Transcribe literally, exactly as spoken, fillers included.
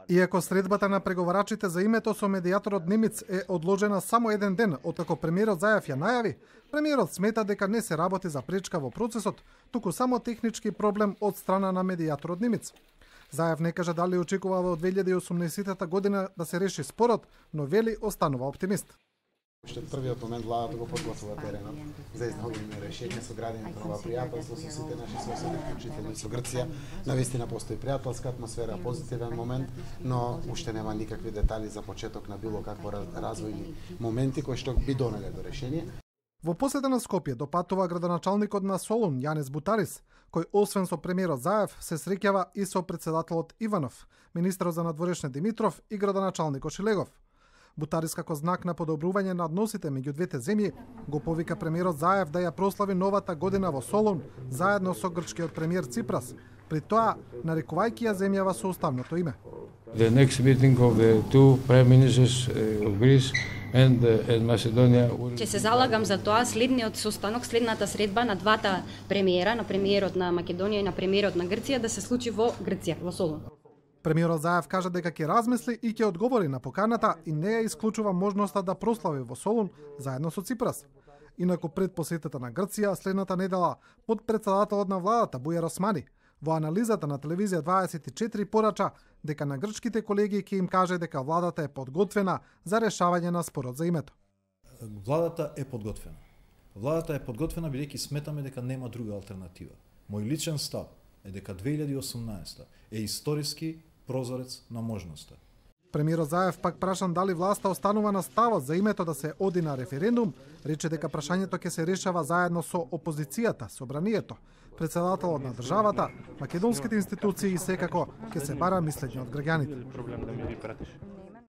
Иако средбата на преговарачите за името со медијаторот немец е одложена само еден ден откако премиерот Заев ја најави, премиерот смета дека не се работи за пречка во процесот, туку само технички проблем од страна на медијаторот немец. Заев не кажа дали очекува во две илјади и осумнаесетта година да се реши спорот, но вели останува оптимист. Уште од првиот момент владата го подготвува теренот за изнаоѓање решение со градењето на ова пријателство со сите наши соседи, вклучително со Грција. Навистина постои пријателска атмосфера, позитивен момент, но уште нема никакви детали за почеток на било какво развојни моменти кои што би донеле до решение. Во посета на Скопје допатува градоначалникот на Солун Јанес Бутарис, кој освен со премиерот Заев се среќава и со претседателот Иванов, министерот за надворешни Димитров и градоначалникот Шилегов. Бутарис како знак на подобрување на односите меѓу двете земји го повика премиерот Заев да ја прослави новата година во Солун заедно со грчкиот премиер Ципрас, при тоа нарекувајќи ја земјава со уставното име. The next meeting of the two prime ministers of Greece and, and Macedonia will... Ќе се залагам за тоа следниот состанок, следната средба на двата премиера, на премиерот на Македонија и на премиерот на Грција да се случи во Грција, во Солун. Премиерот Заев кажа дека ќе размисли и ќе одговори на поканата и не ја исклучува можноста да прослави во Солун заедно со Ципрас. Инаку пред посетата на Грција следната недела под претседателот на владата Бујар Османи во анализата на телевизија дваесет и четири порача дека на грчките колеги ќе им каже дека владата е подготвена за решавање на спорот за името. Владата е подготвена. Владата е подготвена бидејќи сметаме дека нема друга алтернатива. Мој личен став е дека две илјади и осумнаесетта е историски прозорец на можноста. Премиерот Заев пак прашан дали власта останува на ставот за името да се оди на референдум, рече дека прашањето ќе се решава заедно со опозицијата, собранието, претседателот на државата, македонските институции и секако ќе се бара мислење од граѓаните.